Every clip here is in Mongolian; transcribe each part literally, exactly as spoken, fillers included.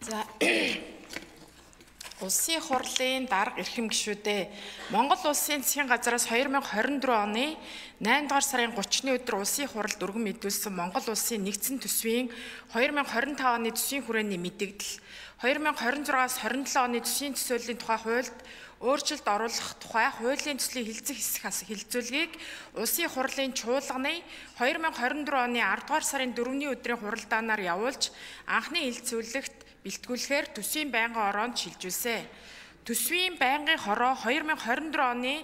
За Улсын хурлын дарга эрхэм гишүүдээ Монгол Улсын засгийн газраас хоёр мянга хорин дөрөв оны наймдугаар сарын гуравчны өдөр Улсын хуралд өргөн мэдүүлсэн Монгол Улсын нэгдсэн төсвийн хоёр мянга хорин таван оны төсвийн хүрээний мэдээлэл, хоёр мянга хорин зургаас хорин долоо оны төсвийн төсөөллийн тухай хуульд өөрчлөлт оруулах тухай хуулийн төслийн хилцэх хэсэг хилцүүлгийг Улсын хурлын чуулганы хоёр мянга хорин дөрөв оны ардугаар сарын дөрөвний өдрийн хуралдаанаар явуулж анхны хилцүүлэгт бэлтгүүлэхээр төсвийн байнгын ороонд шилжүүлсэн. Төсвийн байнгын хороо хоёр мянга хорин дөрөв оны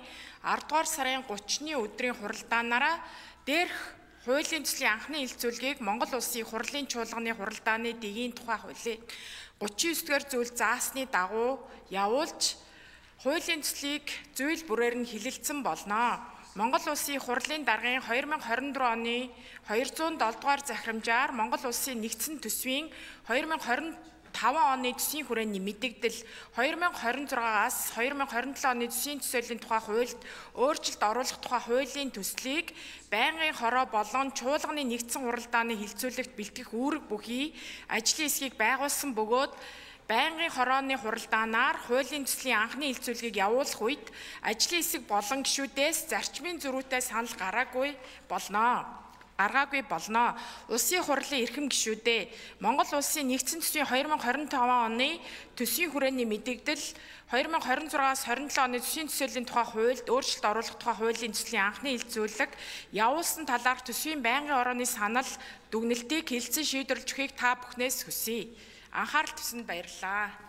ардугаар сарын гуравчны өдрийн хуралдаанаараа дээрх хуулийн төслийн анхны хилцүүлгийг Монгол Улсын хурлын чуулганы хуралдааны дэгийн тухай хуулийг гуравчин есдүгээр зүйл заасны дагуу явуулж хуулийн төслийг зүйл бүрээр нь хилэлцэн болно. Монгол Улсын хурлын даргын хоёр мянга хорин дөрөв оны хоёрзуун долоо дугаар захирамжаар Монгол Улсын нэгдсэн төсвийн хоёр мянга хорин таван оны төсвийн хүрээний мэдээлэл, хоёр мянга хорин зургаас хоёр мянга хорин долоо оны төсвийн төсөөлийн тухай хуульд өөрчлөлт оруулах тухай хуулийн төслийг байнгын хороо болон чуулганы нэгдсэн хуралдааны хилцүүлэгт бэлтгэх үүрэг бүхий ажлын хэсгийг байгуулсан бөгөөд байнгын хорооны хуралдаанаар хуулийн төслийн анхны хилцүүлгийг явуулах үед ажлын хэсэг болон гишүүдээс зарчмын зөрүүтэй санал гараагүй болно. гаргаагүй болно. Улсын хурлын эрхэм гишүүдээ Монгол Улсын нэгдсэн төсвийн хоёр мянга хорин таван оны төсвийн хүрээний мэдээлэл, хоёр мянга хорин зургаас хорин долоо оны төсвийн төсөөлийн тухай хуульд өөрчлөлт оруулах тухай хуулийн төслийн анхны хилцүүлэг явуулсан талаарх төсвийн байнгын орооны санал дүгнэлтийг хэлэлцэн шийдвэрлэж өгөхийг та бүхнээс хүсье. Анхаарал тавьсанд баярлалаа.